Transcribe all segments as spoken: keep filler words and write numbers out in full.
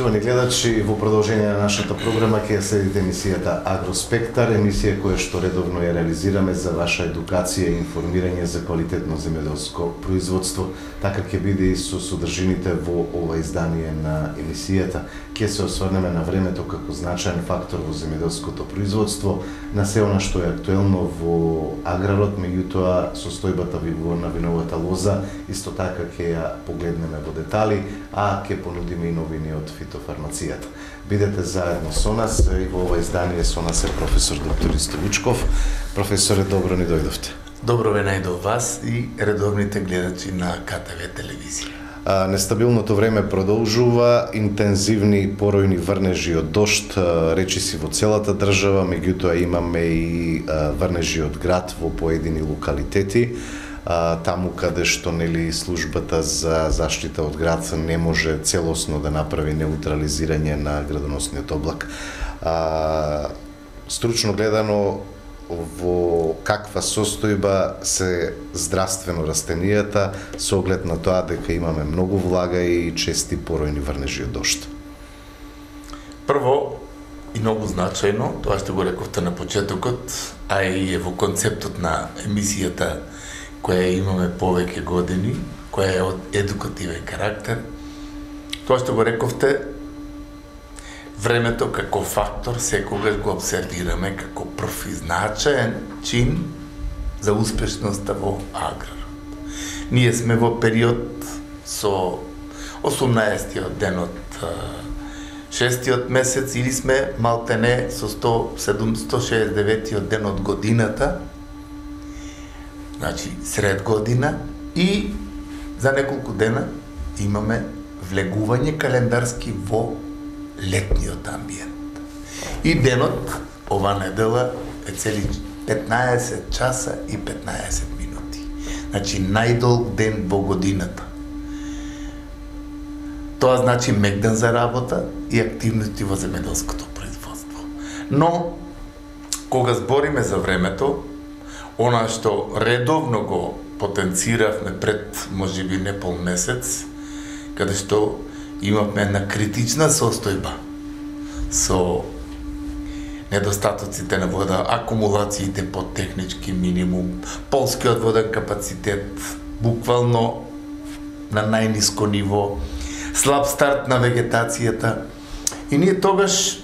Почитувани гледачи, во продолжение на нашата програма ќе следите емисијата Агроспектар, емисија која што редовно ја реализираме за ваша едукација и информирање за квалитетно земјоделско производство. Така ќе биде и со содржините во ова издание на емисијата. Ќе се осврнеме на времето како значаен фактор во земјоделското производство, на се она што е актуелно во аграрот, меѓутоа состојбата на виновата лоза, исто така ќе ја погледнеме во детали, а ќе понудиме и новини од фитофармацијата. Бидете заедно со нас и во ова издание со нас е професор доктор Исто Вучков. Професоре, добро ни дојдовте. Добро ве најдов вас и редовните гледачи на К Т В телевизија. А, нестабилното време продолжува, интензивни поројни врнежи од дожд, речиси во целата држава, меѓутоа имаме и а, врнежи од град во поедини локалитети. А, таму каде што нели службата за заштита од град не може целосно да направи неутрализирање на градоносниот облак. А, стручно гледано, во каква состојба се здравствено растенијата со оглед на тоа дека имаме многу влага и чести поројни врнежи од дожд? Прво и многу значајно, тоа што го рековте на почетокот, а и е во концептот на емисијата која имаме повеќе години, која е од едукативен карактер, тоа што го рековте, времето како фактор секогаш го обсервираме како прв и значаен чин за успешноста во аграрот. Ние сме во период со осумнаесеттиот ден од шестиот месец или сме малтене со сто шеесет и деветиот ден од годината, значи сред година, и за неколку дена имаме влегување календарски во летниот амбиент. И денот, ова недела, е цели петнаесет часа и петнаесет минути. Значи, најдолг ден во годината. Тоа значи мегдан за работа и активности во земјоделското производство. Но, кога збориме за времето, она што редовно го потенциравме пред, можеби, не пол месец, каде што имавме една критична состојба со недостатоците на вода, акумулациите под технички минимум, полскиот воден капацитет буквално на најниско ниво, слаб старт на вегетацијата. И ние тогаш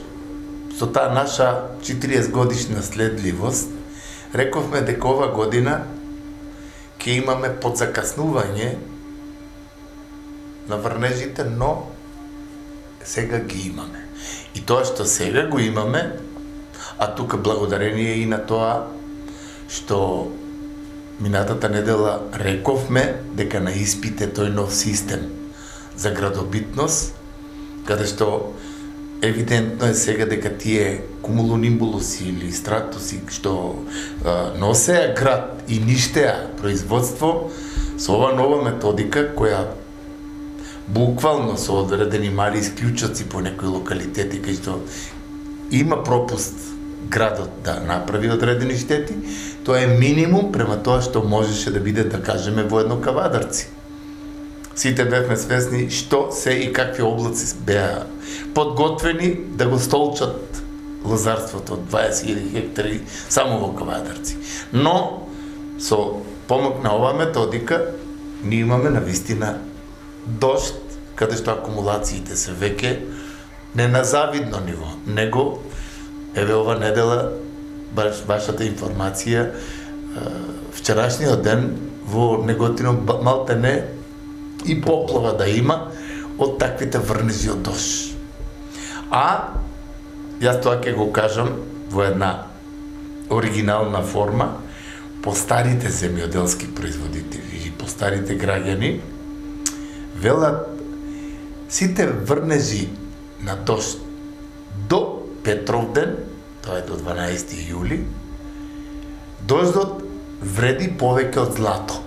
со таа наша четириесет годишна следливост рековме дека ова година ќе имаме подзакаснување на врнежите, но сега ги имаме. И тоа што сега го имаме, а тука благодарение и на тоа што минатата недела рековме дека на испит е тој нов систем за градобитност, каде што евидентно е сега дека тие кумулонимбулуси или стратуси што а, носеа град и ништеа производство, со ова нова методика која буквално со одредени мали исклучоци по некои локалитети кај што има пропуст градот да направи одредени штети, тоа е минимум према тоа што можеше да биде, да кажеме, во едно Кавадарци. Сите бевме свесни што се и какви облаци беа подготвени да го столчат лозарството од дваесет илјади хектари само во Кавадарци. Но со помог на оваа методика ние имаме навистина дожд, каде што акумулациите се веќе не на завидно ниво, него еве ова недела баш вашата информација, вчерашниот ден во Неготино малтене и поплава да има од таквите врнежи од дожд. А јас тоа ќе го кажам во една оригинална форма, по старите земјоделски производители и по старите граѓани велат сите врнежи на дожд до Петровден, тоа е до дванаесети јули, дождот вреди повеќе од злато.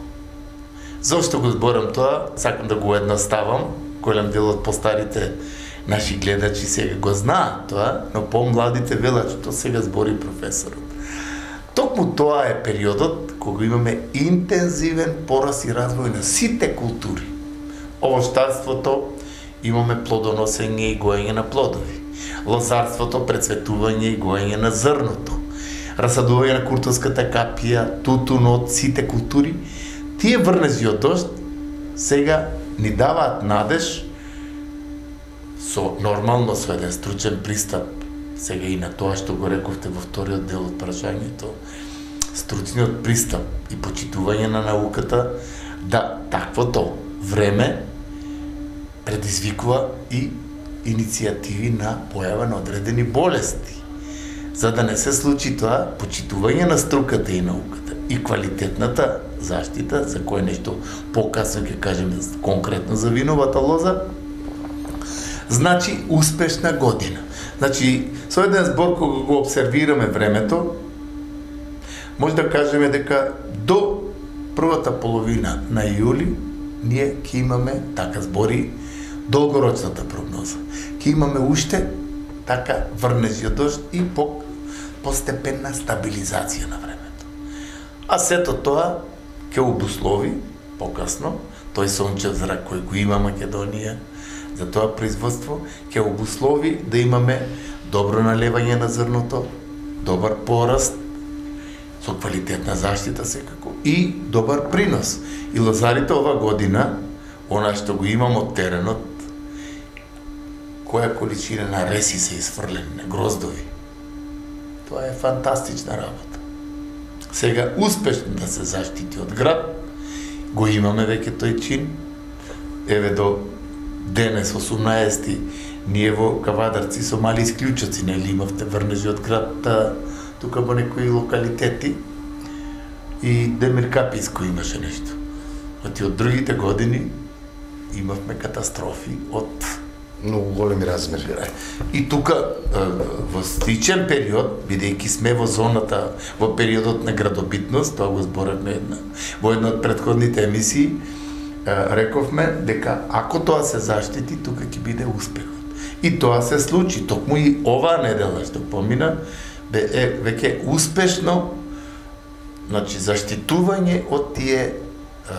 Зошто го зборам тоа? Сакам да го едноставам. Голем дел од постарите наши гледачи сега го знаат тоа, но помладите велат што сега збори професорот. Токму тоа е периодот кога имаме интензивен пораст и развој на сите култури. Овоштарството имаме плодоносење и гоење на плодови. Лозарството, прецветување и гоење на зрното. Расадување на куртовската капија, тутунот, сите култури. Тие врнези од дожд сега ни даваат надеж со нормално со еден стручен пристап сега и на тоа што го рековте во вториот дел од прашањето, стручниот пристап и почитување на науката, да таквото време предизвикува и иницијативи на појава на одредени болести. За да не се случи тоа, почитување на струката и науката и квалитетната заштита, за кој нешто покасно ќе кажеме конкретно за виновата лоза, значи успешна година. Значи, со еден збор кога го обсервираме времето, може да кажеме дека до првата половина на јули ние ќе имаме, така збори долгорочната прогноза, ќе имаме уште така врнези од дожд и по постепенна стабилизација на времето. А сето тоа ќе обуслови покасно тој сончев зрак кој го има Македонија за тоа производство, ќе обуслови да имаме добро налевање на зрното, добар пораст со квалитетна заштита секако и добар принос. И лозарите ова година, она што го имам од теренот, која количина на реси се изфрлени, на гроздови. Тоа е фантастична работа. Сега успешно да се заштити од град, го имаме веќе тој чин. Еве до денес, осумнаесети, ние во Кавадарци со мали исклучоци, нели имавте врнежи од град, тука во некои локалитети, и Демир Каписко имаше нешто. Оти од другите години имавме катастрофи од многу големи размери. И тука во сличен период, бидејќи сме во зоната, во периодот на градобитност, тоа го зборевме една, во една од претходните емисии, рековме дека ако тоа се заштити, тука ќе биде успехот. И тоа се случи, токму и оваа недела што помина, бе е веќе успешно, значи заштитување од тие а,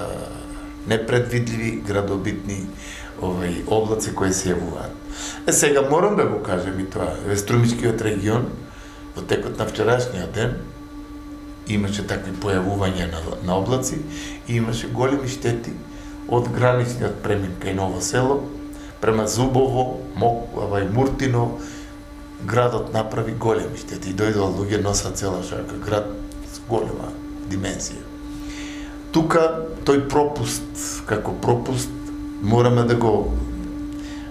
непредвидливи градобитни овај облаци кои се јавуваат. Е сега морам да го кажем и тоа, во Струмичкиот регион во текот на вчерашниот ден имаше такви појавувања на, на облаци и имаше големи штети од граничниот премин кај Ново село према Зубово, Мок, авај Муртино, градот направи големи штети и дојдоа луѓе носат цела шака, град с голема димензија. Тука тој пропуст, како пропуст, мораме да го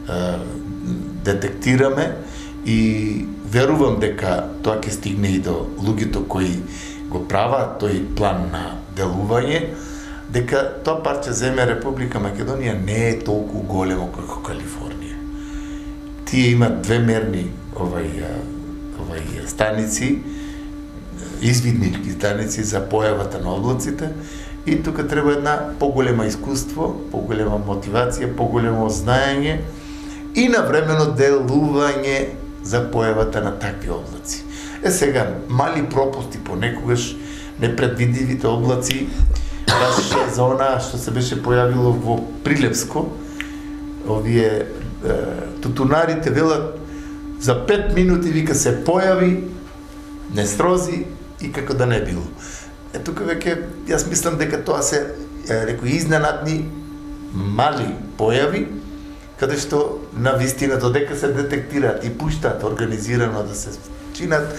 е, детектираме и верувам дека тоа ќе стигне и до луѓето кои го прават тој план на делување, дека тоа парче земја Република Македонија не е толку големо како Калифорнија. Тие имат две мерни овај, овај станици, извиднички станици за појавата на облаците, и тука треба една поголема искуство, поголема мотивација, поголемо знаење и навремено делување за појавата на такви облаци. Е сега, мали пропусти понекогаш, непредвидливите облаци, баш за она што се беше појавило во Прилепско, овие е, тутунарите велат за пет минути вика се појави, не срози и како да не било. Е, тука веќе, јас мислам дека тоа се некои изненадни, мали појави, каде што на вистина додека се детектираат и пуштаат организирано да се чинат,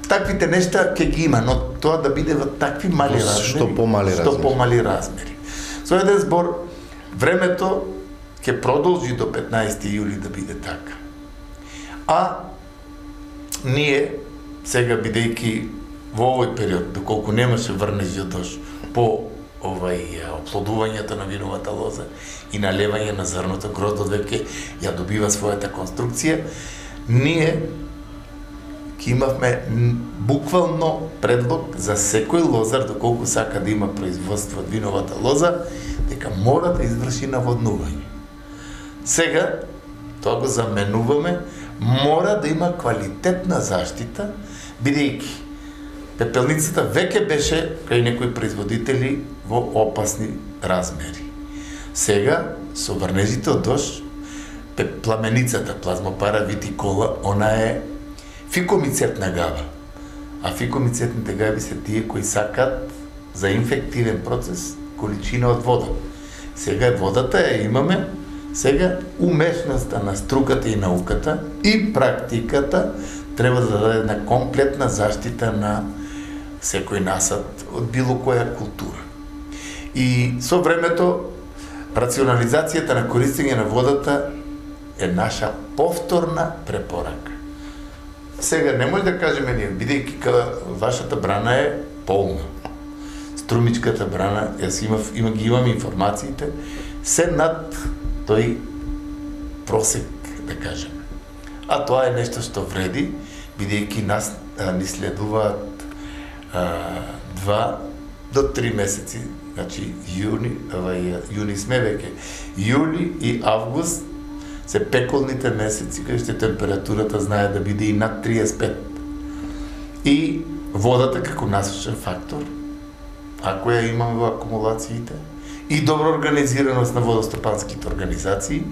таквите нешта ќе ги има, но тоа да биде во такви мали размери, што помали што размери. помали размери. Со еден збор, времето ќе продолжи до петнаесети јули да биде така. А ние сега бидејќи во овој период, доколку немаше врнежи од дожд, по овај оплодувањето на виновата лоза и налевање на зрното, гроздот веќе ја добива својата конструкција, ние ќе имавме буквално предлог за секој лозар, доколку сака да има производство од виновата лоза, дека мора да изврши наводнување. Сега, тоа го заменуваме, мора да има квалитетна заштита, бидејќи пепелницата веќе беше кај некои производители во опасни размери. Сега, со врнежите од дожд, пламеницата плазмопара витикола, она е фикомицетна гава. А фикомицетните гави се тие кои сакат за инфективен процес количина од вода. Сега водата ја имаме, сега умешноста на струката и науката и практиката треба да даде една комплетна заштита на секој насад од било која култура. И со времето рационализацијата на користење на водата е наша повторна препорака. Сега не може да кажеме ние, бидејќи кога вашата брана е полна. Струмичката брана, јас имав, има, ги имам информациите, се над тој просек, да кажеме. А тоа е нешто што вреди, бидејќи нас а, ни следуваат а, два до три месеци, значи јуни, авај, јуни сме веќе, јули и август се пеколните месеци кај што температурата знае да биде и над триесет и пет. И водата како насочен фактор, ако ја имаме во акумулациите, и добра организираност на водостопанските организации,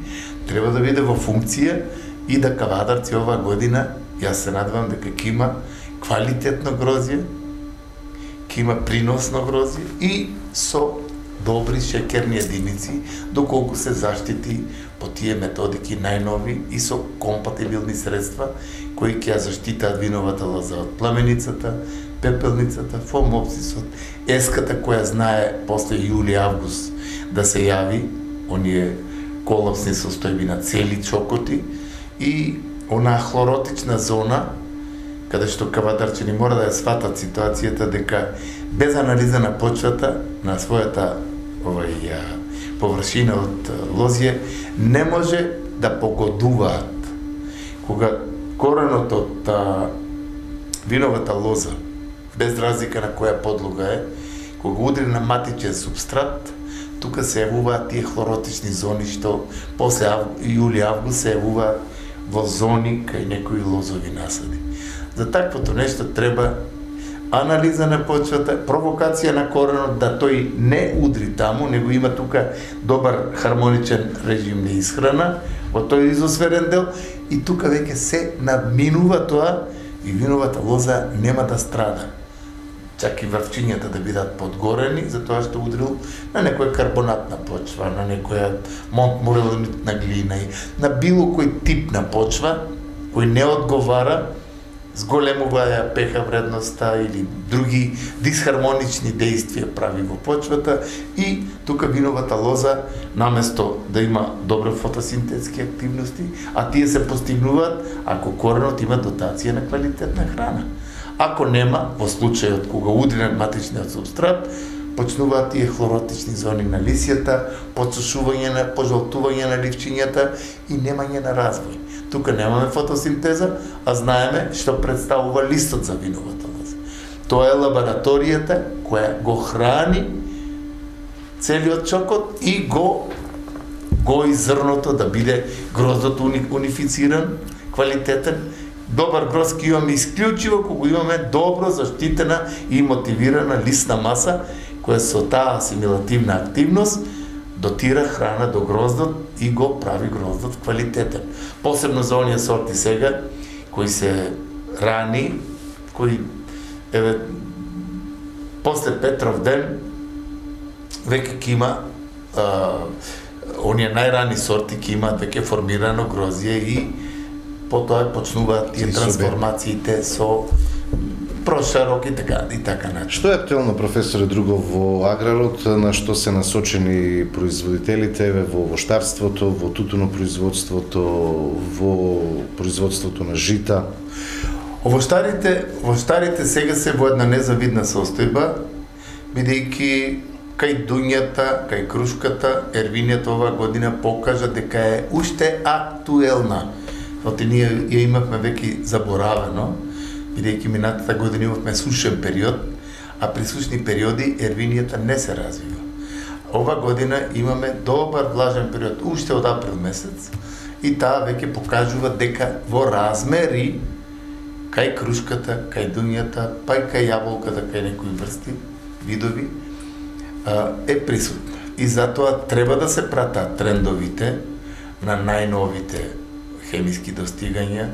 треба да биде во функција и да Кавадарци оваа година, јас се надевам дека ќе има квалитетно грозје, ќе има приносно грозје и со добри шеќерни единици, доколку се заштити по тие методики најнови и со компатибилни средства кои ќе ја заштитаат виновата лоза од пламеницата, пепелницата, фомопсисот, еската која знае после јули-август да се јави оние колапсни состојби на цели чокоти и онаа хлоротична зона каде што кавадарчани мора да ја сватат ситуацијата дека без анализа на почвата на својата овај површина од лозје не може да погодуваат. Кога коренот од а, виновата лоза, без разлика на која подлога е, кога удри на матичен субстрат, тука се јавуваат тие хлоротични зони што после јули-август се јавуваат во зони кај некои лозови насади. За таквото нешто треба анализа на почвата, провокација на коренот да тој не удри таму, него има тука добар хармоничен режим на исхрана во тој изосферен дел и тука веќе се надминува тоа и виновата лоза нема да страда. Чак и врвчињата да бидат подгорени, затоа што удрил на некоја карбонатна почва, на некоја монтморелонитна глина и на било кој тип на почва кој не одговара, зголемува ја пеха вредноста или други дисхармонични действија прави во почвата и тука виновата лоза наместо да има добра фотосинтетски активности, а тие се постигнуваат ако коренот има дотација на квалитетна храна. Ако нема, во случајот кога удри на матичниот субстрат, почнуваат тие хлоротични зони на лисјата, подсушување на пожалтување на ливчињата и немање на развој. Тука немаме фотосинтеза, а знаеме што представува листот за виновата лоза. Тоа е лабораторијата која го храни целиот чокот и го гои зрното да биде гроздот унифициран, квалитетен. Добар гроз ќе имаме исклучиво кога имаме добро заштитена и мотивирана листна маса која со таа асимилативна активност дотира храна до гроздот и го прави гроздот квалитетен. Посебно за оние сорти сега кои се рани, кои еве после Петров ден веќе ќе има а, оние најрани сорти ќе имаат веќе формирано грозје и потоа почнуваат тие трансформациите со прошарок и така и така начин. Што е актуелно, професоре Другов, во аграрот, на што се насочени производителите еве во воштарството, во тутунопроизводството, во производството на жита? Воштарите, воштарите сега се во една незавидна состојба, бидејќи кај дуњата, кај крушката, ервинијата оваа година покажа дека е уште актуелна. Оти ние ја имавме веќе заборавено, бидејќи минатата година имавме сушен период, а при сушни периоди ервинијата не се развива. Ова година имаме добар влажен период, уште од април месец, и таа веќе покажува дека во размери кај крушката, кај дуњата, па и кај јаболката, кај некои врсти, видови, е присутна. И затоа треба да се пратат трендовите на најновите хемиски достигања.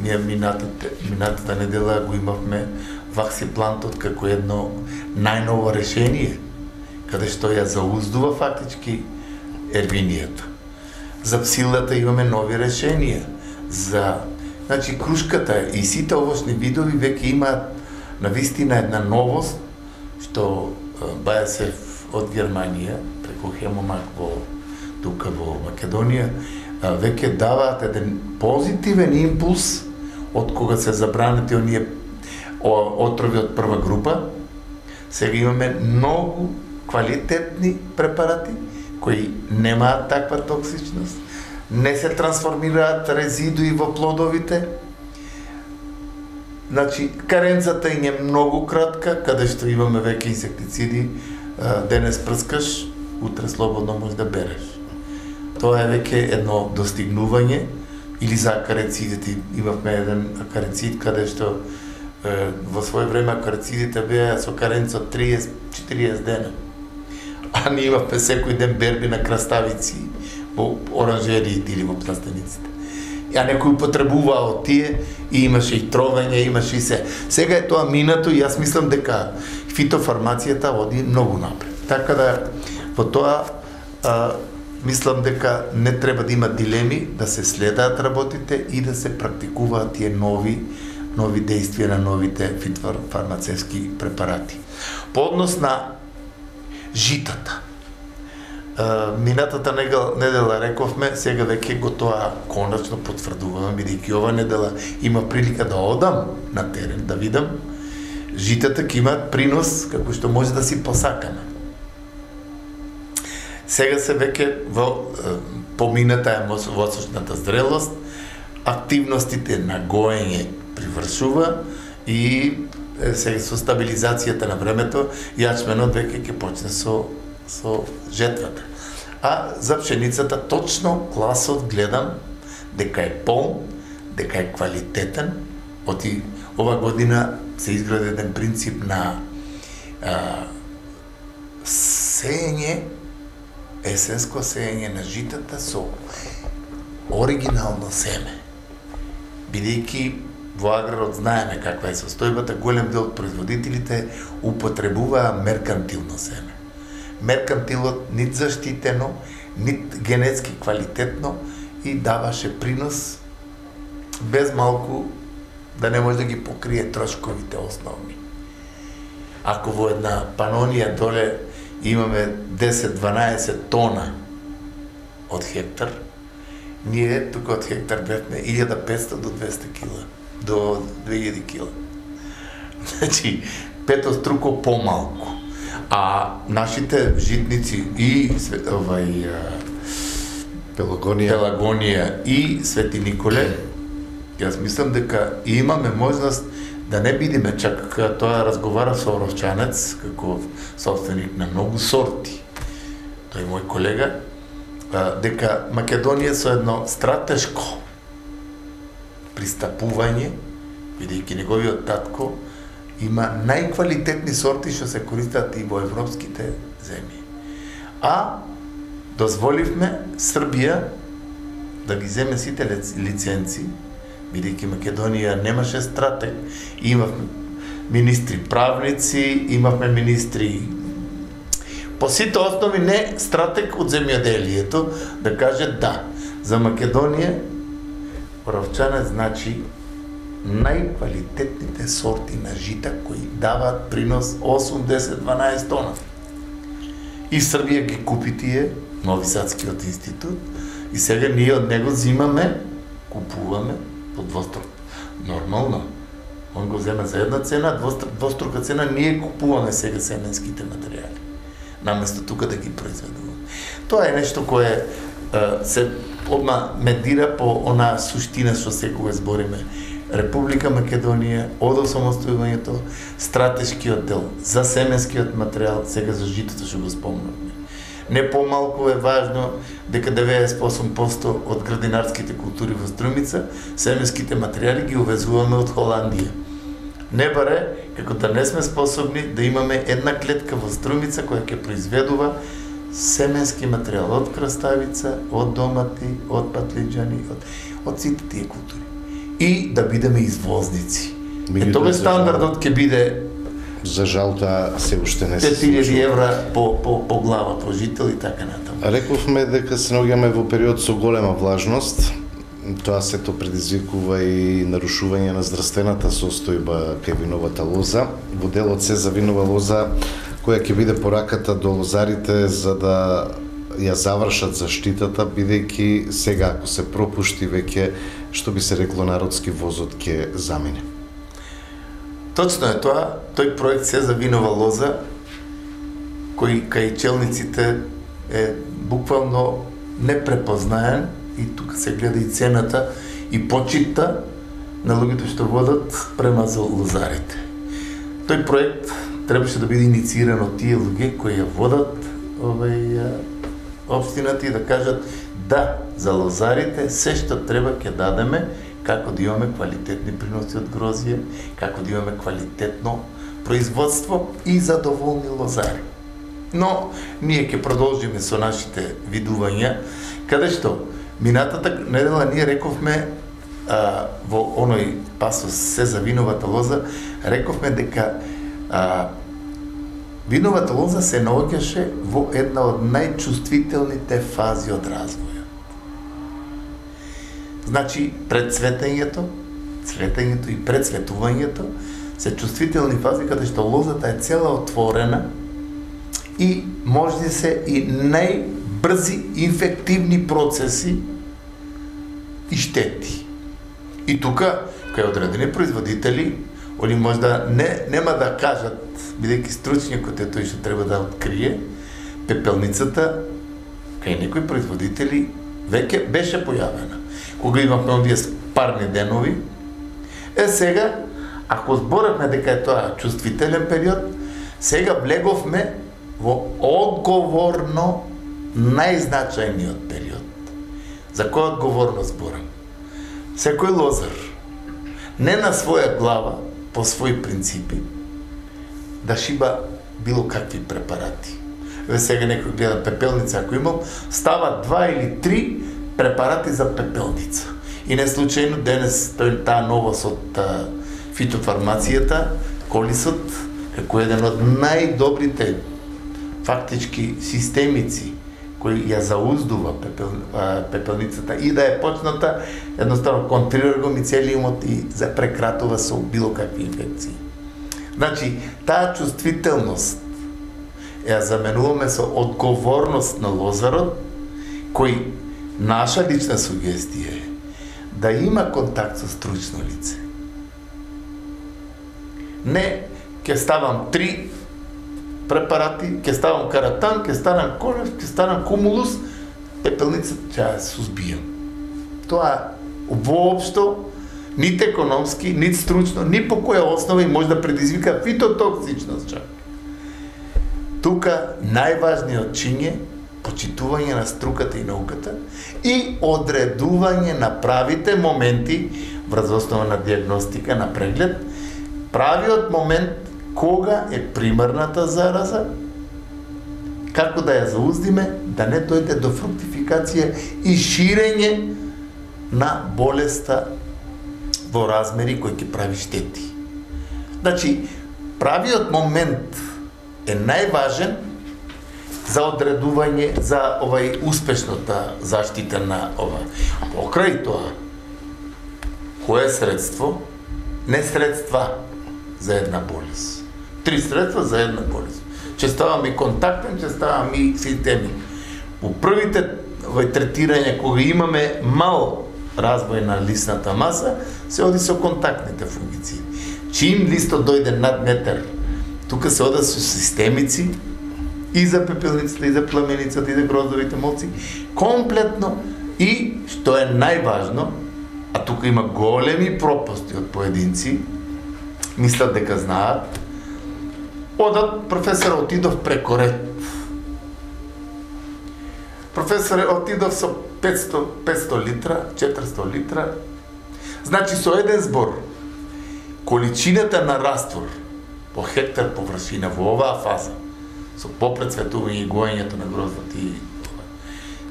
Ние минатата, минатата недела го имавме ваксиплантот како едно најново решение, каде што ја зауздува фактички ервинијата. За псилата имаме нови решенија. За, значи, крушката и сите овошни видови веќе имаат навистина една новост, што Бајасев од Германија, преку Хемомак во тука во Македонија, веќе даваат еден позитивен импулс од кога се забранети оние отрови од прва група. Сега имаме многу квалитетни препарати кои немаат таква токсичност, не се трансформираат резидуи во плодовите. Значи, каренцата им е многу кратка, каде што имаме веќе инсектициди, денес прскаш, утре слободно можеш да береш. Тоа е веќе едно достигнување. Или за акарицидите, имавме еден акарицид каде што е, во своје време акарицидите беа со каренца од триесет до четириесет дена. А ние имавме секој ден берби на краставици во оранжериите или во пластениците. А некој употребуваа од тие и имаше и тровење, имаше и се. Сега е тоа минато и јас мислам дека фитофармацијата оди многу напред. Така да во тоа а, мислам дека не треба да има дилеми, да се следаат работите и да се практикуваат тие нови нови действија на новите фитофармацевски препарати. По однос на житата. Минатата недела рековме, сега веќе го тоа конечно потврдувам, бидејќи ова недела има прилика да одам на терен, да видам житата ќе имаат принос како што може да си посакаме. Сега се веќе во помината е восочната зрелост, активностите на гоење привршува и сега со стабилизацијата на времето јачменот веќе ќе почне со со жетвата. А за пшеницата точно класот гледам дека е полн, дека е квалитетен. Оти ова година се изгради еден принцип на а, сеење, есенско сеење на житата со оригинално семе. Бидејќи во аграрот знаеме каква е состојбата, голем дел од производителите употребуваа меркантилно семе. Меркантилот нит заштитено, нит генетски квалитетно и даваше принос без малку да не може да ги покрие трошковите основни. Ако во една панонија доле имаме десет-дванаесет тона од хектар, ние тука од хектар бевме илјада и петстотини до двесте кила, до две илјади кила. Значи, петоструко помалку. А нашите житници и овај Пелагонија. Пелагонија и Свети Николе, јас мислам дека имаме можност да не бидиме, чак тоа разговара со Оровчанец, како собственик на многу сорти, тој мој колега, дека Македонија со едно стратешко пристапување, бидејќи неговиот татко има најквалитетни сорти што се користат и во европските земји. А дозволивме Србија да ги земе сите лиценци, бидејќи Македонија немаше стратег, имавме министри правници, имавме министри по сите основи, не стратег од земјоделието да каже да. За Македонија Оровчанец значи најквалитетните сорти на жита кои даваат принос осум, десет, дванаесет тона. И Србија ги купи тие, Нови Садскиот институт, и сега ние од него зимаме, купуваме по двострук. Нормално. Он го земе за една цена, двострука цена, ние купуваме сега семенските материјали. Наместо тука да ги произведуваме. Тоа е нешто кое е, се одма медира по онаа суштина што секогаш збориме. Република Македонија, од осамостојувањето, стратешкиот дел за семенскиот материјал, сега за житото што го спомнавме. Не помалку е важно дека деветдесет и осум проценти од градинарските култури во Струмица, семенските материјали ги увезуваме од Холандија. Не баре како да не сме способни да имаме една клетка во Струмица која ќе произведува семенски материјал од краставица, од домати, од патлиџани, од, од сите тие култури. И да бидеме извозници. Е, тоа стандардот ќе биде за жал тоа се уште не се пет илјади евра по, по, по глава, по жител и така натаму. Рековме дека се наоѓаме во период со голема влажност. Тоа сето предизвикува и нарушување на здравствената состојба кај виновата лоза. Во делот се за винова лоза, која ќе биде пораката до лозарите за да ја завршат заштитата, бидејќи сега ако се пропушти веќе, што би се рекло народски, возот ќе замине. Точно е тоа, тој проект се за винова лоза, кој кај челниците е буквално непрепознаен, и тука се гледа и цената и почитта на луѓето што водат према за лозарите. Тој проект требаше да биде иницииран од тие луѓе кои ја водат овај општината и да кажат да, за лозарите се што треба ќе дадеме, како да имаме квалитетни приноси од грозје, како да имаме квалитетно производство и задоволни лозари. Но ние ќе продолжиме со нашите видувања, каде што минатата недела ние рековме а, во оној пасос се за виновата лоза, рековме дека а, виновата лоза се наоѓаше во една од најчувствителните фази од развојот. Значи, пред цветењето, цветењето и предцветувањето се чувствителни фази каде што лозата е цела отворена и може се и најбрзи инфективни процеси и штети. И тука, кај одредени производители, они може да не, нема да кажат, бидејќи стручникот е тој што треба да открие, пепелницата кај некои производители веќе беше појавена. Кога имавме овие парни денови, е сега, ако зборевме дека е тоа чувствителен период, сега влеговме во одговорно најзначајниот период. За која одговорност зборам? Секој лозар, не на своја глава, по своји принципи, да шиба било какви препарати. Ве сега некој гледа пепелница, ако имам, става два или три препарати за пепелница. И не случајно денес тој таа новост од фитофармацијата, колисот, како еден од најдобрите фактички системици кој ја зауздува пепел, а, пепелницата и да е почната едноставно контрира го мицелиумот и за прекратува со било какви инфекции. Значи, таа чувствителност ја заменуваме со одговорност на лозарот, кој наша лична сугестија е да има контакт со стручно лице. Не, ќе ставам три препарати, ќе ставам каратан, ќе станам колев, ќе станам кумулус, пепелницата ќе ја сузбијам. Тоа воопшто нит економски, нит стручно, ни по која основа и може да предизвика фитотоксичност чак. Тука најважниот чин е почитување на струката и науката и одредување на правите моменти врз основа на диагностика, на преглед, правиот момент кога е примарната зараза, како да ја зауздиме, да не дојде до фруктификација и ширење на болеста во размери кои ќе прави штети. Значи, правиот момент е најважен за одредување за овај успешната заштита на ова. Покрај тоа, кое средство? Не средства за една болест. Три средства за една болест. Че ставам и контактен, че ставам и системи. По првите овај третирање, кога имаме мал развој на лисната маса, се оди со контактните фунгициди. Чим листот дојде над метар, тука се ода со системици, и за пепелницата, и за пламеницата, и за гроздовите молци, комплетно, и, што е најважно, а тука има големи пропусти од поединци, мислат дека знаат, одат, професор отидов преко ред. Професор отидов со петсто, петсто литра, четиристо литра, значи со еден збор, количината на раствор по хектар површина во оваа фаза со попрецветување и гоењето на гроздот и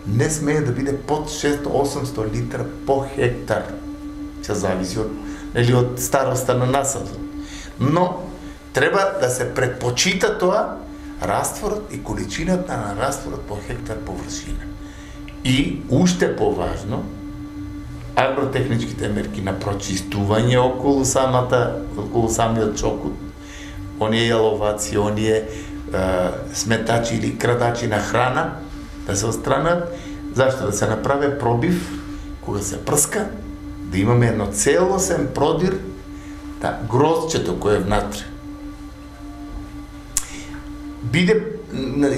не смее да биде под шест до осемсто литра по хектар. Ќе зависи од или од староста на насадот. Но треба да се предпочита тоа растворот и количината на растворот по хектар површина. И уште поважно, агротехничките мерки на прочистување околу самата, околу самиот чокот, оние јаловаци, оние е, сметачи или крадачи на храна, да се отстранат, зашто да се направи пробив, кога се прска, да имаме едно целосен продир, да гроздчето кој е внатре биде,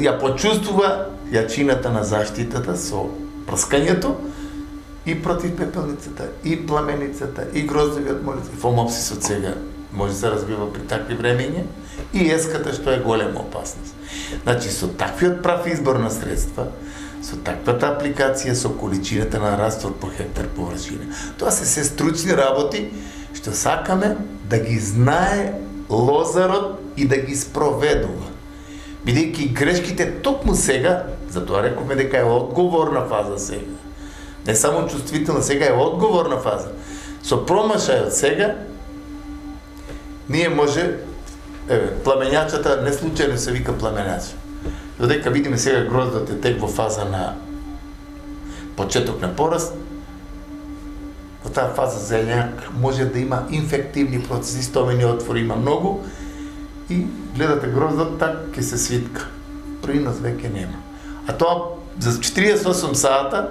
ја почувствува јачината на заштитата со прскањето и против пепелницата, и пламеницата, и гроздовиот молец, и фомопсисот сега може да се разбива при такви времења, и еската што е голема опасност. Значи, со таквиот прав избор на средства, со таквата апликација, со количината на раствор по хектар површина, тоа се се стручни работи што сакаме да ги знае лозарот и да ги спроведува. Бидејќи грешките токму сега, затоа рековме дека е одговорна фаза сега. Не само чувствителна, сега е одговорна фаза. Со промашајот сега, ние може, еве, пламењачата, не случајно се вика пламењач. Додека видиме сега гроздот е тек во фаза на почеток на пораст, во таа фаза зеленјак може да има инфективни процеси, стомени отвори има многу, и гледате гроздот, так ќе се свитка. Принос веќе нема. А тоа за четириесет и осум сата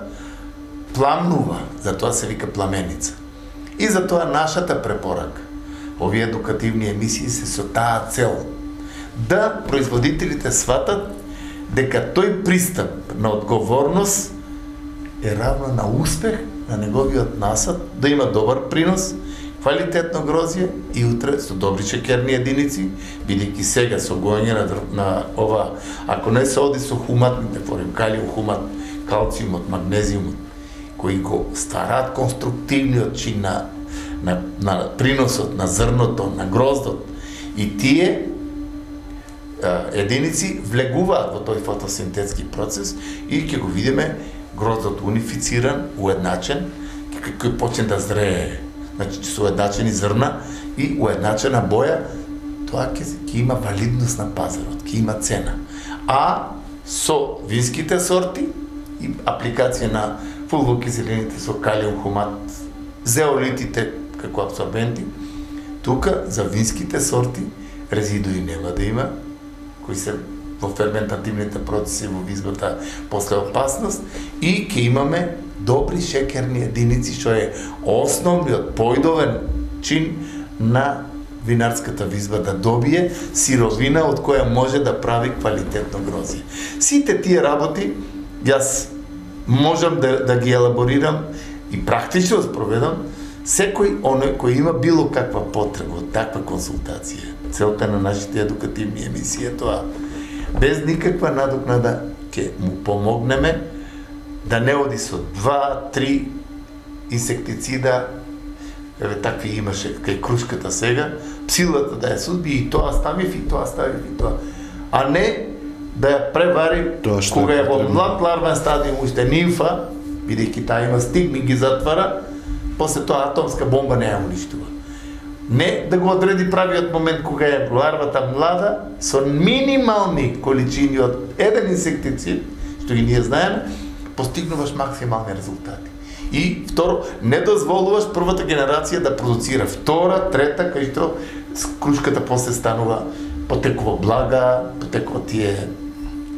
пламнува, затоа се вика пламеница. И затоа нашата препорака, овие едукативни емисии се со таа цел, да производителите сватат дека тој пристап на одговорност е равно на успех на неговиот насад, да има добар принос, квалитетно грозје и утре со добри шекерни единици, бидејќи сега со гоење на, на ова, ако не се оди со хуматните форми, калиум хумат, калциумот, магнезиумот, кои го стараат конструктивниот чин на, на, на приносот, на зрното, на гроздот, и тие единици влегуваат во тој фотосинтетски процес и ќе го видиме гроздот унифициран, уедначен, кој почне да зрее. Значи, со уедначени зрна и уедначена боја, тоа ќе, ќе има валидност на пазарот, ќе има цена. А со винските сорти и апликација на фулвокиселините со калиум хумат, зеолитите како абсорбенти, тука за винските сорти резидуи нема да има, кои се во ферментативните процеси во визбата после опасност, и ќе имаме добри шекерни единици, што е основниот појдовен чин на винарската визба, да добие сировина од која може да прави квалитетно грозје. Сите тие работи јас можам да, да ги елаборирам и практично спроведам секој оној кој има било каква потреба од таква консултација. Целта на нашите едукативни емисии е тоа. Без никаква надокнада ќе му помогнеме да не оди со два, три инсектицида, еве такви имаше кај крушката сега, псилата да ја судби и тоа ставив и тоа ставив и тоа. А не да ја превари кога е во млад ларвен стадиум, уште нимфа, бидејќи таа има стигми, ги затвара, после тоа атомска бомба не ја уништува. Не да го одреди правиот момент кога е ларвата млада, со минимални количини од еден инсектицид, што ги ние знаеме, постигнуваш максимални резултати. И второ, не дозволуваш првата генерација да продуцира втора, трета, кај што крушката после станува потекува блага, потекува тие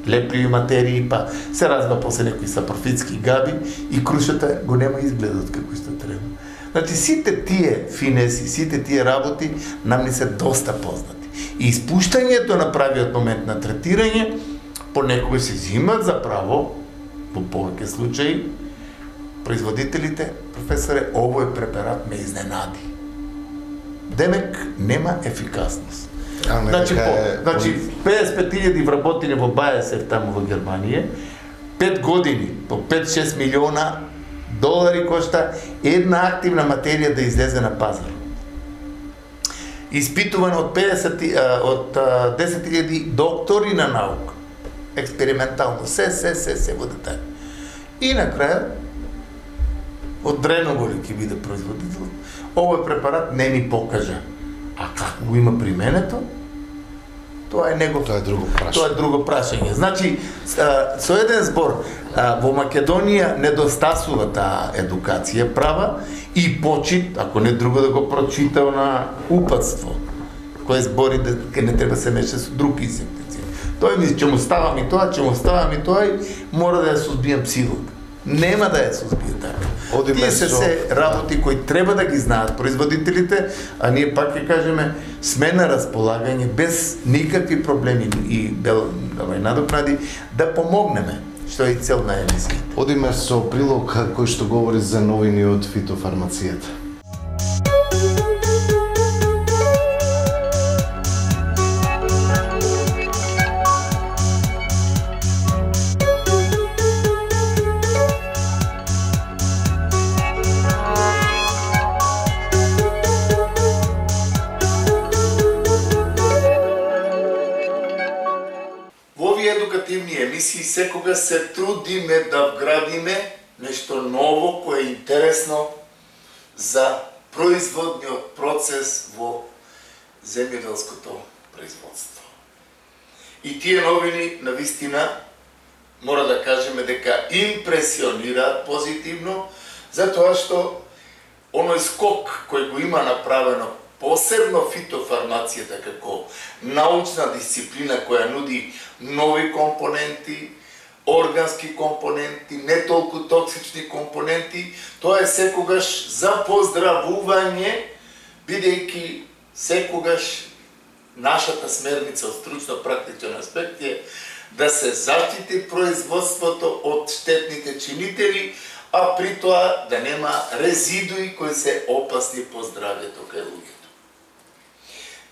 лепливи материи, па се развива после некои сапрофитски габи и крушата го нема изгледот како што треба. Значи, сите тие финеси, сите тие работи нам ни се доста познати. И испуштањето на правиот момент на третирање понекогаш се зимат за право, во повеќе случаи, производителите, професоре, овој препарат ме изненади. Демек, нема ефикасност. А, значи, по, е... значи, педесет и пет илјади вработени во Бајесев таму во Германија, пет години, по пет до шест милиона долари кошта една активна материја да излезе на пазар. испитувано од педесет од десет илјади доктори на наука. Експериментално, се, се, се, се во детали. И на крај од Дреноголи ќе биде производител. Овој препарат не ми покажа. А како го има применето? Тоа е него. Тоа е друго прашање. Тоа е друго прашање. Значи, со еден збор, во Македонија недостасува таа едукација права и почит, ако не друго да го прочитал на упатство, кој збори дека не треба се меша со друг инсектицид. Тој ми ќе му ставам и тоа, ќе му ставам и тоа и мора да ја сузбијам псилот. Нема да ја сузбие така. Одиме Тие се со... се работи кои треба да ги знаат производителите, а ние пак ќе кажеме сме на располагање без никакви проблеми и давај надокнади да помогнеме, што е и цел на емисија. Одиме со прилог кој што говори за новини од фитофармацијата. Емисии секога се трудиме да вградиме нешто ново кое е интересно за производниот процес во земјоделското производство. И тие новини навистина мора да кажеме дека импресионираат позитивно, затоа што оној скок кој го има направено посебно фитофармацијата како научна дисциплина која нуди нови компоненти, органски компоненти, не толку токсични компоненти, тоа е секогаш за поздравување, бидејќи секогаш нашата смерница од стручно-практичен аспект е да се заштити производството од штетните чинители, а при тоа да нема резидуи кои се опасни по здравјето кај луѓето.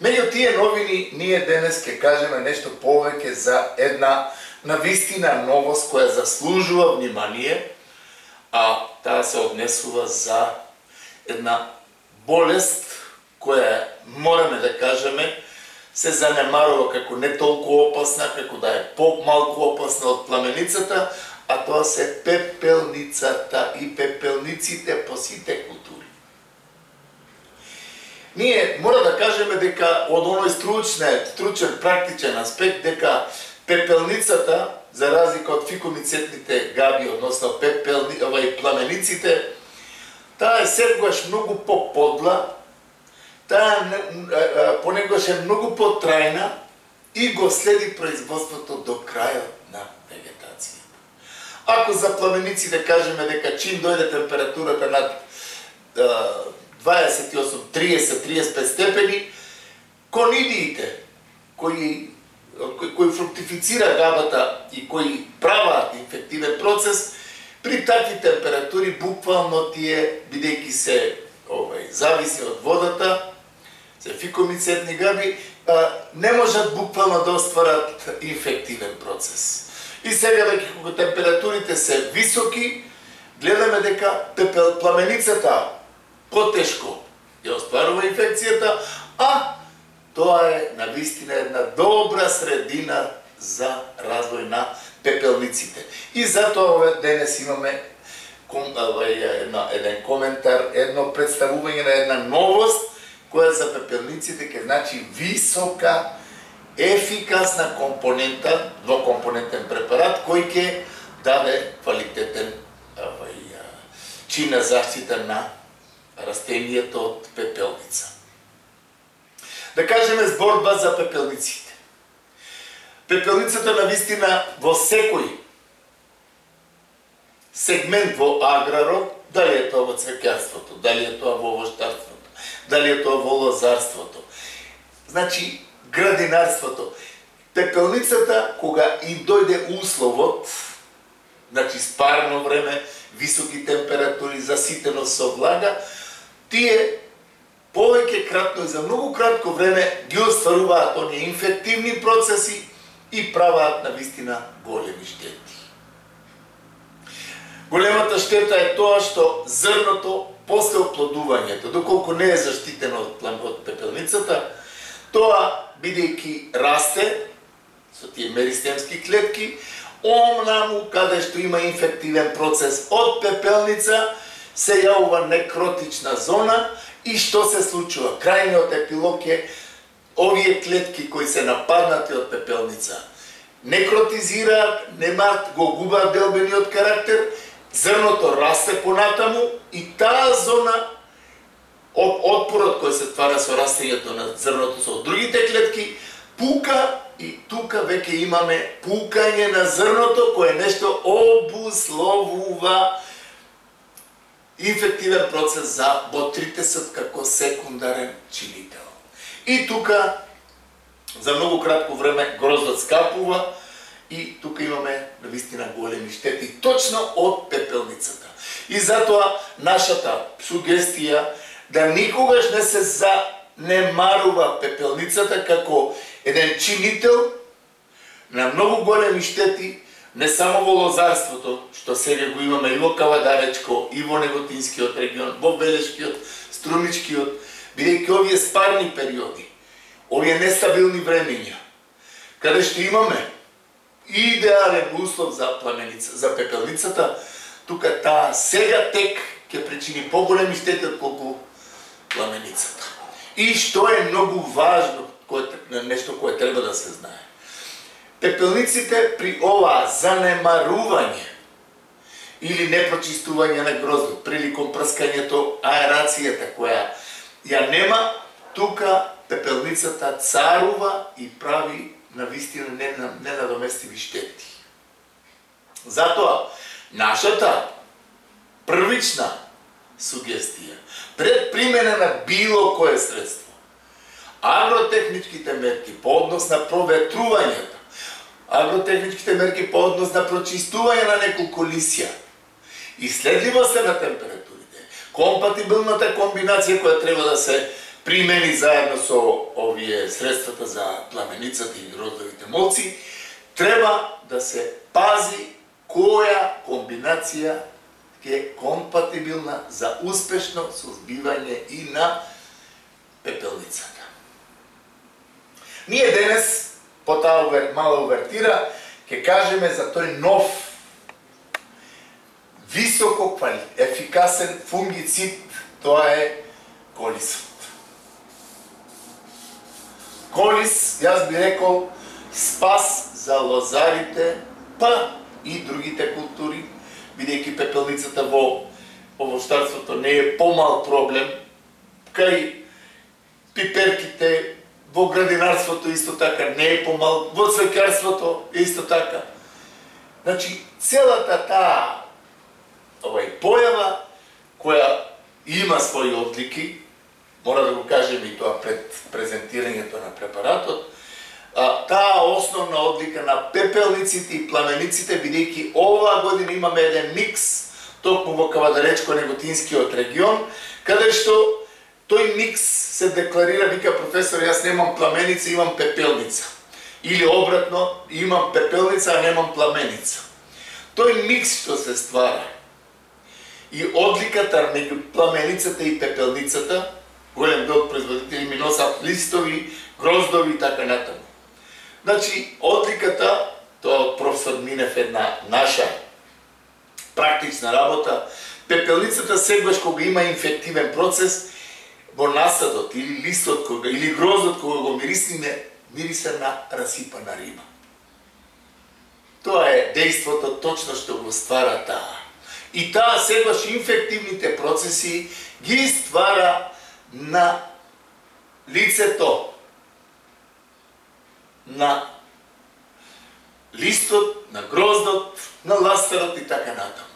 Меѓу тие новини, ние денес ќе кажеме нешто повеќе за една навистина новост која заслужува внимание, а таа се однесува за една болест која мораме да кажеме се занемарува како не толку опасна, како да е по-малку опасна од пламеницата, а тоа се пепелницата и пепелниците по сите култури. Ние мора да кажеме дека од оној стручен, стручен практичен аспект дека пепелницата, за разлика од фикомицетните габи, односно пепелни, овај пламениците, таа е секогаш многу по-подла, таа понекогаш е многу по-трајна и го следи производството до крајот на вегетација. Ако за пламениците кажеме дека чим дојде температурата над дваесет и осум, триесет, триесет и пет степени, конидиите кои кои фруктифицира габата и кои прават инфективен процес, при такви температури буквално тие, бидејќи се овај зависи од водата, се фикомицетни габи, не можат буквално да остварат инфективен процес. И сега веќе кога температурите се високи, гледаме дека пепел пламеницата потешко ја остварува инфекцијата, а тоа е навистина една добра средина за развој на пепелниците. И затоа денес имаме еден коментар, едно представување на една новост која за пепелниците ќе значи висока, ефикасна компонента, двокомпонентен препарат кој ќе даде квалитетен чин на заштита на растенијето од пепелница. Да кажеме зборба за пепелниците. Пепелницата навистина во секој сегмент во аграрот, дали е тоа во цвеќарството, дали е тоа во овоштарството, дали е тоа во лозарството, значи градинарството. Пепелницата, кога и дојде условот, значи спарно време, високи температури, заситено со влага, тие повеќе кратно и за многу кратко време ги остваруваат оние инфективни процеси и праваат навистина големи штети. Големата штета е тоа што зрното после оплодувањето, доколку не е заштитено од пепелницата, Тоа, бидејќи расте со тие меристемски клетки, омнаму каде што има инфективен процес од пепелница, се јавува некротична зона и што се случува? Крајниот епилог е овие клетки кои се нападнати од пепелница некротизираат, немаат, го губаат делбениот карактер, зрното расте понатаму и таа зона од отпорот кој се ствара со растењето на зрното со другите клетки пука и тука веќе имаме пукање на зрното кое нешто обусловува инфективен процес за ботритесот како секундарен чинител. И тука за многу кратко време гроздот скапува и тука имаме навистина големи штети точно од пепелницата. И затоа нашата сугестија да никогаш не се занемарува пепелницата како еден чинител на многу големи штети, не само во лозарството, што сега го имаме и во Кавадаречко, и во Неготинскиот регион, во Белешкиот, Струмичкиот, бидејќи овие спарни периоди, овие нестабилни времења, каде што имаме идеален услов за пламеница, за пепелницата, тука таа сега тек ќе причини поголеми штети отколку пламеницата. И што е многу важно, кое, нешто кое треба да се знае. Пепелниците при оваа занемарување или непрочистување на гроздот, приликом прскањето, аерацијата која ја нема, тука пепелницата царува и прави навистина ненадоместиви штети. Затоа, нашата првична сугестија, пред примена на било кое средство, агротехничките мерки по однос на проветрувањето, агротехничките мерки по однос на прочистување на неколку лисја, исследливоста на температурите, компатибилната комбинација која треба да се примени заедно со овие средствата за пламеницата и гроздовите молци, треба да се пази која комбинација е компатибилна за успешно сузбивање и на пепелницата. Ние денес, по таа мала увертира, ќе кажеме за тој нов, високо ефикасен фунгицид, тоа е колисот. Колис, јас би рекол, спас за лозарите, па и другите култури, бидејќи пепелницата во овощарството не е помал проблем, кај пиперките, во градинарството исто така не е помал, во цвеќарството исто така. Значи, целата таа овај појава, која има своји одлики, мора да го кажеме и тоа пред презентирањето на препаратот, а, таа основна одлика на пепелниците и пламениците, бидејќи оваа година имаме еден микс, токму во Кавадаречко-Неготинскиот регион, каде што тој микс се декларира, вика професор, јас немам пламеница, имам пепелница. Или обратно, имам пепелница, а немам пламеница. Тој микс што се ствара и одликата меѓу пламеницата и пепелницата, голем дел производители ми носат листови, гроздови и така натаму. Значи, одликата, тоа од професор Минев една наша практична работа, пепелницата сегаш кога има инфективен процес, во насадот или листот кога, или гроздот кога го мирисиме, мириса на расипана риба. Тоа е дејството точно што го ствара таа. И таа сегаш инфективните процеси ги ствара на лицето, на листот, на гроздот, на ластарот и така натаму.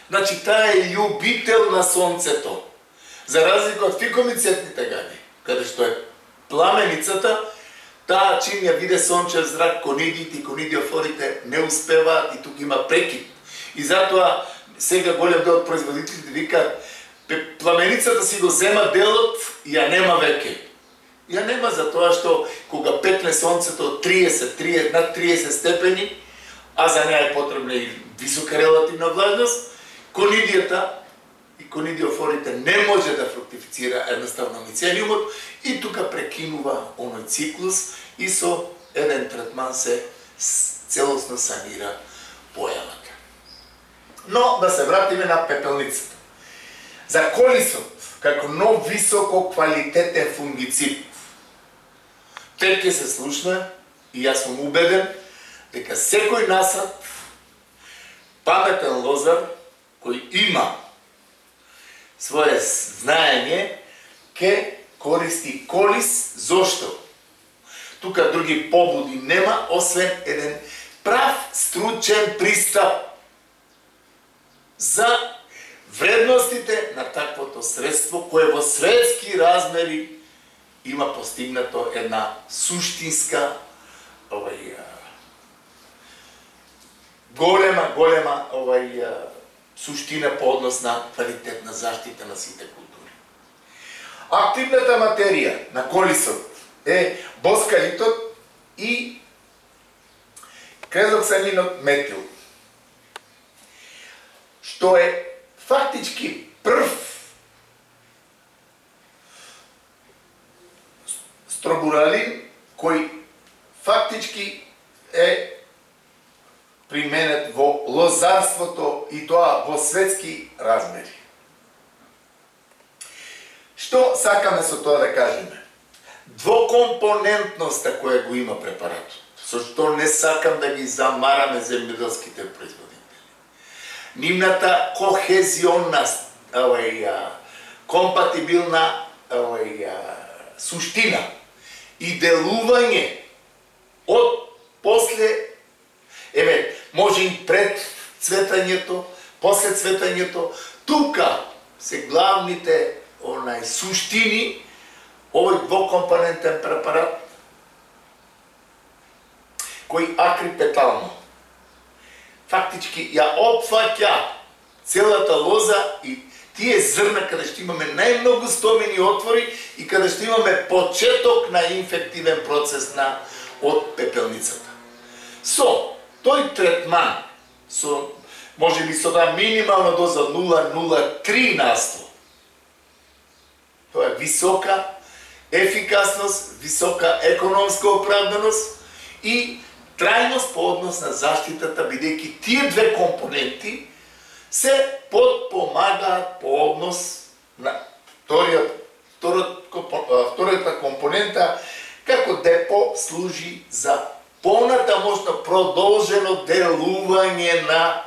Значи, таа е љубител на сонцето. За разлика од фикомицетните гади, каде што е пламеницата, таа чим ја виде сончев зрак, конидите и конидиофорите не успеваат и тук има прекид. И затоа сега голем дел од производителите викаат, пламеницата си го зема делот и ја нема веќе. Ја нема за тоа што кога пекне сонцето триесет, триесет, над триесет степени, а за неа е потребна и висока релативна влажност, конидијата и конидиофорите не може да фруктифицира едноставно мицелиумот и тука прекинува оној циклус и со еден третман се целосно санира појавата. Но да се вратиме на пепелницата. За колисот, како нов високо квалитетен фунгицид, тек ќе се слушне и јас сум убеден дека секој насад паметен лозар кој има свое знаење ќе користи колис. Зошто? Тука други побуди нема, освен еден прав стручен пристап за вредностите на таквото средство, кое во светски размери има постигнато една суштинска, овај, голема, голема овај, суштина по однос на квалитетна заштита на сите култури. Активната материја на колисот е боскалитот и крезоксанинот метил, што е фактички прв стробуралин кој фактички е применет во лозарството и тоа во светски размери. Што сакаме со тоа да кажеме? Двокомпонентноста која го има препаратот, со што не сакам да ги замараме земјоделските производители. Нивната кохезионна, овај, компатибилна, овај, суштина и делување од после, еве, може и пред цветањето, после цветањето, тука се главните онај суштини, овој двокомпонентен препарат кој акрипетално фактички ја опфаќа целата лоза и тие зрна каде што имаме најмногу стомени отвори и каде што имаме почеток на инфективен процес на од пепелницата. Со тој третман, со може би со да минимална доза нула целу нула три на сто, тоа е висока ефикасност, висока економска оправданост и трајност по однос на заштитата, бидејќи тие две компоненти се подпомагаат по однос на вториот, вториот, вториот компонента, како депо служи за понатамошно продолжено делување на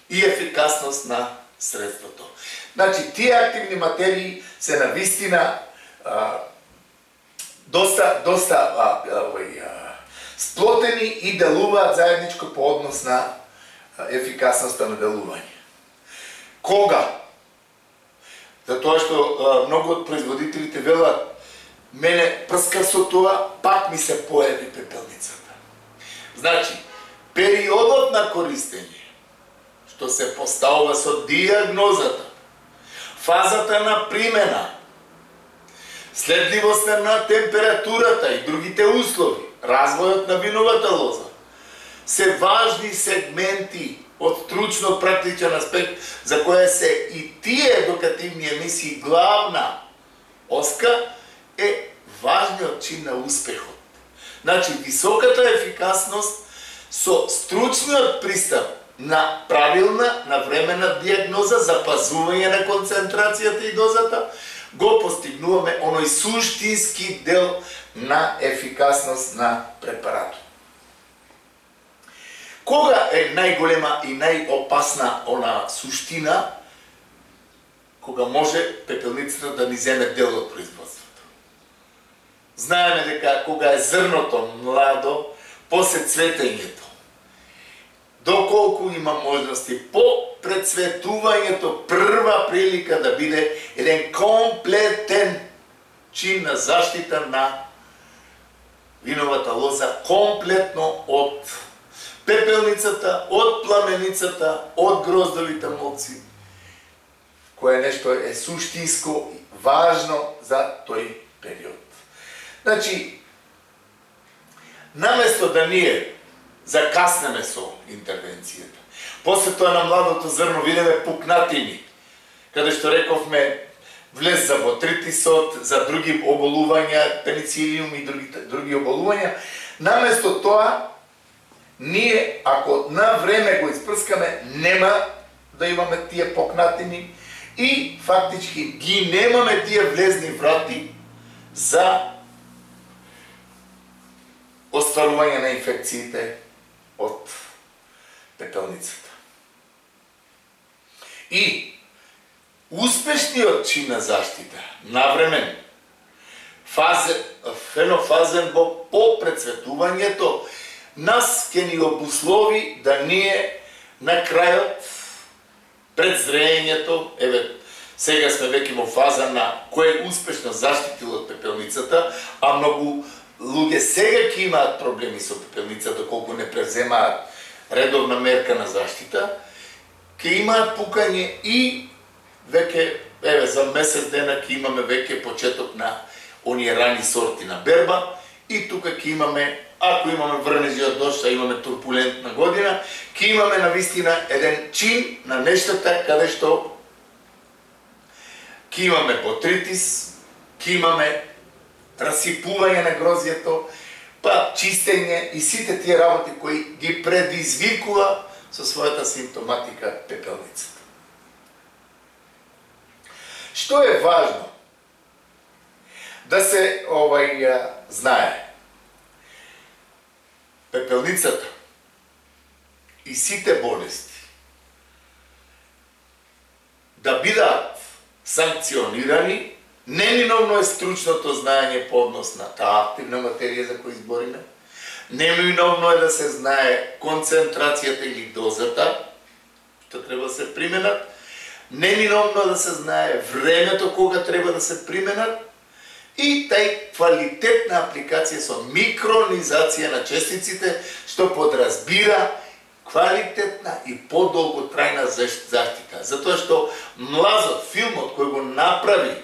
и ефикасност на средството. Значи, тие активни материи се навистина а, доста, доста а, а, сплотени и делуваат заедничко по однос на ефикасноста на делување. Кога? Затоа што а, многу од производителите велат, мене прска со тоа, пак ми се појави пепелницата. Значи, периодот на користење, што се поставува со диагнозата, фазата на примена, следливоста на температурата и другите услови, развојот на виновата лоза, се важни сегменти од стручно-практичен аспект, за која се и тие едукативни емисии главна оска, е важниот чин на успехот. Значи, високата ефикасност со стручниот пристап на правилна, навременна диагноза, запазување на концентрацијата и дозата, го постигнуваме оној суштински дел на ефикасност на препаратот. Кога е најголема и најопасна она суштина, кога може пепелницата да ни земе дел од производството? Знаеме дека кога е зрното младо, после цветењето, доколку има можности по прецветувањето, прва прилика да биде еден комплетен чин на заштита на виновата лоза, комплетно од пепелницата, од пламеницата, од гроздовите молци, кое нешто е суштинско важно за тој период. Значи, наместо да ние закаснеме со интервенцијата, после тоа на младото зрно видиме пукнатини, каде што рековме влез за ботритисот, за други оболувања, пеницилиум и други, други оболувања, наместо тоа, ние, ако на време го испрскаме, нема да имаме тие покнатини и фактички ги немаме тие влезни врати за остварување на инфекциите од пепелницата. И успешниот чин на заштита, навремен, фазен, фенофазен во попрецветувањето, нас ке ни обуслови да ние на крајот, пред зреењето, еве, сега сме веќе во фаза на кој успешно заштитил од пепелницата, а многу луѓе сега ќе имаат проблеми со пепелницата, колку не преземаат редовна мерка на заштита, ќе имаат пукање и веќе, еве, за месец дена ќе имаме веќе почеток на оние рани сорти на берба и тука ќе имаме, ако имаме врнежи од дожд, а имаме турбулентна година, ќе имаме навистина еден чин на нештата каде што ќе имаме ботритис, ќе имаме расипување на грозјето, па чистење и сите тие работи кои ги предизвикува со својата симптоматика пепелницата. Што е важно да се овај знае? Пепелницата и сите болести да бидат санкционирани, неминовно е стручното знаење по однос на таа активна материја за која избориме, неминовно е да се знае концентрацијата или дозата, што треба да се применат, неминовно е да се знае времето кога треба да се применат и тај квалитетна апликација со микронизација на честиците, што подразбира квалитетна и подолготрајна заштита. Затоа што млазот, филмот кој го направи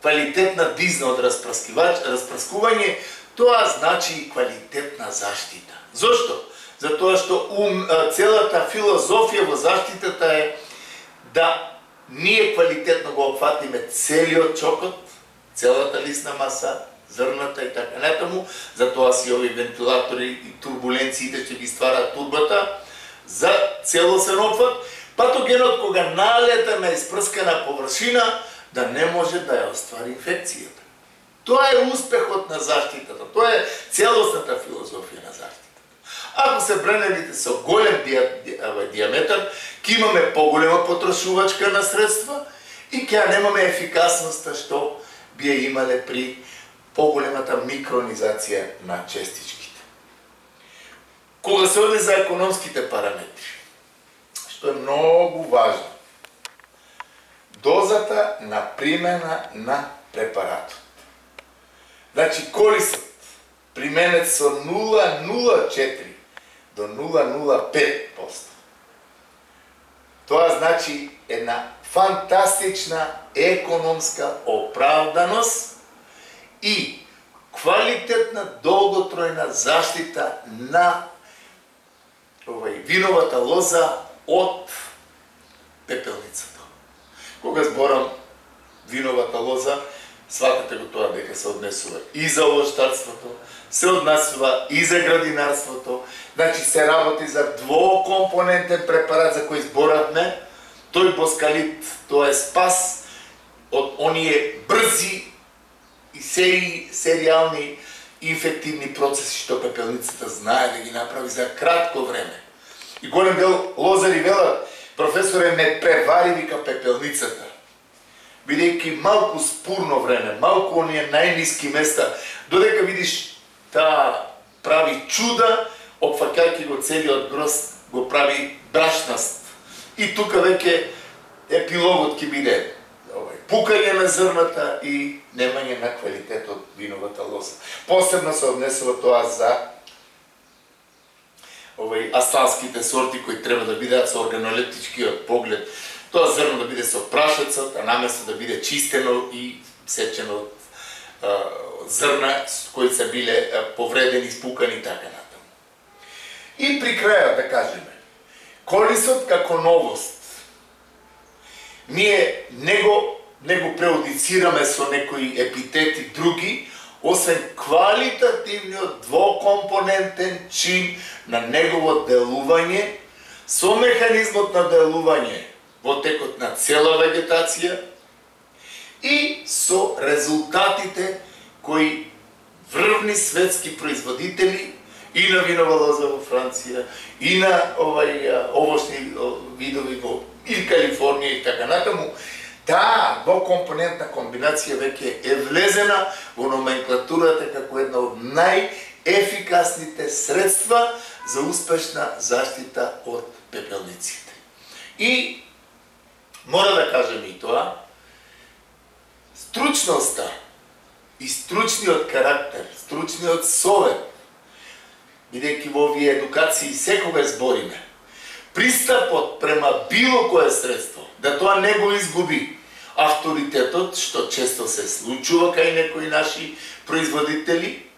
квалитетна дизна од распрскување, тоа значи и квалитетна заштита. Зошто? Затоа што ум, целата филозофија во заштитата е да ние квалитетно го опфатиме целиот чокот, целата лисна маса, зрната и така натаму, затоа си овие вентилатори и турбуленциите ќе ги стварат турбата за целосен опфат, патогенот кога налета на испрскана површина да не може да ја оствари инфекцијата. Тоа е успехот на заштитата, тоа е целосната филозофија на заштитата. Ако се бренелите со голем диаметар, ќе имаме поголема потрошувачка на средства и ќе немаме ефикасноста што би ја имале при поголемата микронизација на честичките. Кога се оди за економските параметри, што е многу важно, дозата на примена на препаратот. Значи, корисот применет со нула целу нула четири до нула целу нула пет проценти. Тоа значи една фантастична економска оправданост и квалитетна долготројна заштита на овај виновата лоза од пепелницата. Кога зборам виновата лоза, сватете го тоа дека се однесува и за овоштарството, се однесува и за градинарството, значи се работи за двокомпонентен препарат за кој зборавме, тој боскалит, тоа е спас од оние брзи и сери, серијални инфективни процеси што пепелницата знае да ги направи за кратко време. И голем дел лозари велат, професоре, не превари вика пепелницата, бидејќи малку спурно време, малку оние најниски места, додека видиш таа прави чуда, опфаќајќи го целиот грозд, го прави брашнаст. И тука веќе епилогот ќе биде пукање на зрната и немање на квалитет од виновата лоза. Посебно се однесува тоа за овој асталските сорти кои треба да бидат со органолептичкиот поглед. Тоа зрно да биде со прашецот, а наместо да биде чистено и сечено од зрна кои се биле повредени, спукани и така натаму. И при крајот да кажеме, корисот како новост ние него него преодицираме со некои епитети други, освен квалитативниот двокомпонентен чин на негово делување, со механизмот на делување во текот на цела вегетација и со резултатите кои врвни светски производители и на винова лоза во Франција, и на овај овошни видови во и Калифорнија и така натаму, таа двокомпонентна комбинација веќе е влезена во номенклатурата како една од најефикасните средства за успешна заштита од пепелниците. И мора да кажем и тоа, стручноста и стручниот карактер, стручниот совет, бидејќи во овие едукации секогаш збориме, пристапот према било кое средство, да тоа не го изгуби авторитетот, што често се случува кај некои наши производители.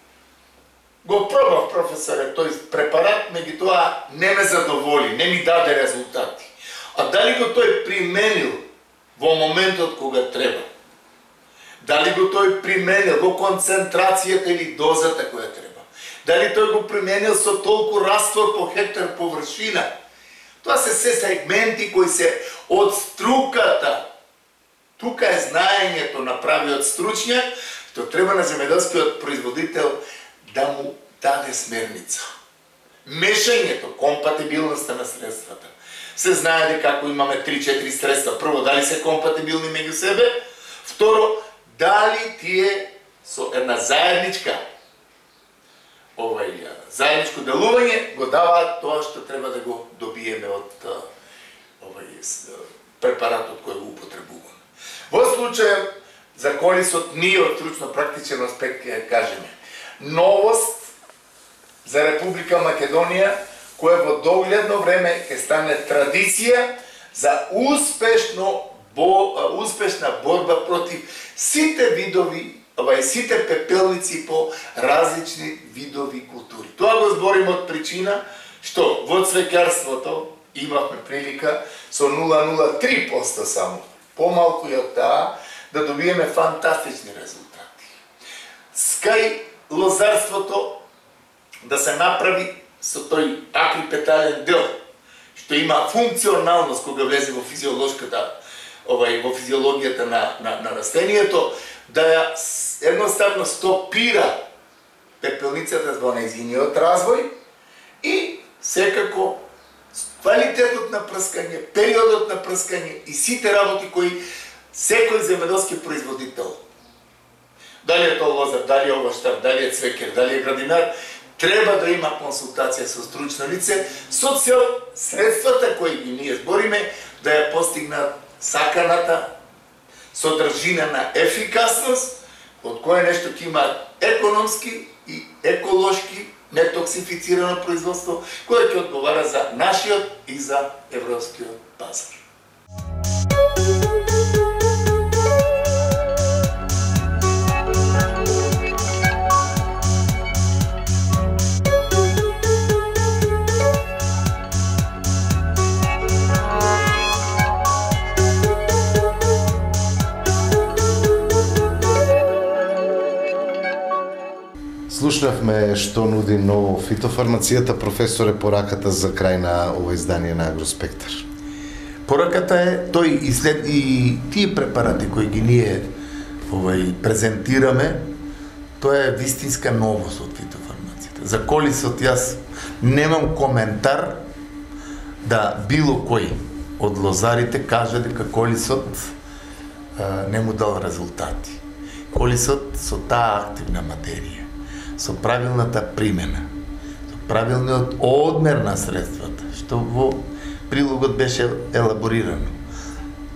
Го пробав, професоре, тој препарат, меѓутоа не ме задоволи, не ми даде резултати. А дали го тој применил во моментот кога треба? Дали го тој применил во концентрацијата или дозата која треба? Дали тој го применил со толку раствор по хектар површина? Тоа се се сегменти кои се од струката. Тука е знаењето на правиот стручњак, што треба на земјоделскиот производител да му даде смерница. Мешањето, компатибилноста на средствата. Се знае дека ако имаме три-четири средства, прво, дали се компатибилни меѓу себе, второ, дали тие со една заедничка овај заедничко делување го даваат тоа што треба да го добиеме од овај препаратот кој го употребуваме. Во случајот за колисот ние од стручно-практичен аспект ќе кажеме новост за Република Македонија, која во догледно време ќе стане традиција за успешно бо, успешна борба против сите видови, ова сите пепелници по различни видови култури. Тоа го збориме од причина што во цвеќарството имавме прилика со нула целу нула три проценти само, помалку и од таа, да добиеме фантастични резултати. Скај лозарството да се направи со тој акрипетален дел, што има функционалност кога влезе во физиолошката, овај во физиологијата на на, на растението, да ја едноставно стопира пепелницата во нејзиниот развој и секако квалитетот на прскање, периодот на прскање и сите работи кои секој земјоделски производител, дали е тоа лозар, дали е овоштар, дали е цвекер, дали е градинар, треба да има консултација со стручно лице со цел средствата кои ги ние збориме да ја постигнат саканата содржина на ефикасност, од кое нешто ќе има економски и еколошки нетоксифицирано производство, кое ќе одговара за нашиот и за европскиот пазар. Слушнавме што нуди ново фитофармацијата, професоре, пораката за крај на ова издание на Агроспектар. Пораката е тој и след и тие препарати кои ги ние овај презентираме, тоа е вистинска новост од фитофармацијата. За колисот јас немам коментар да било кој од лозарите каже дека колисот а, не му дал резултати. Колисот со таа активна материја, со правилната примена, со правилниот одмер на средствата, што во прилогот беше елаборирано,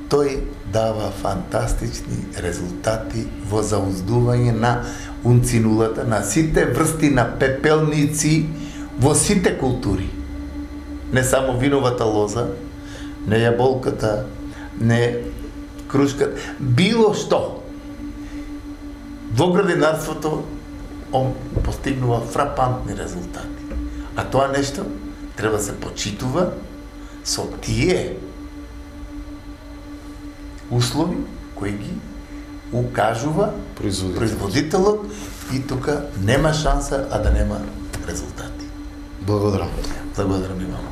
тој дава фантастични резултати во зауздување на унцинулата на сите врсти на пепелници во сите култури. Не само виновата лоза, не јаболката, не крушката, било што. Во градинарството он постигнува фрапантни резултати. А тоа нешто треба се почитува со тие услови кои ги укажува Производителот. производителот и тука нема шанса а да нема резултати. Благодарам. Благодарам и вам.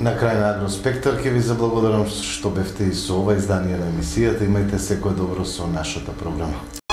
На крај на Агроспектар ќе ви заблагодарам што бевте и со ова издание на емисијата. Имајте секое добро со нашата програма.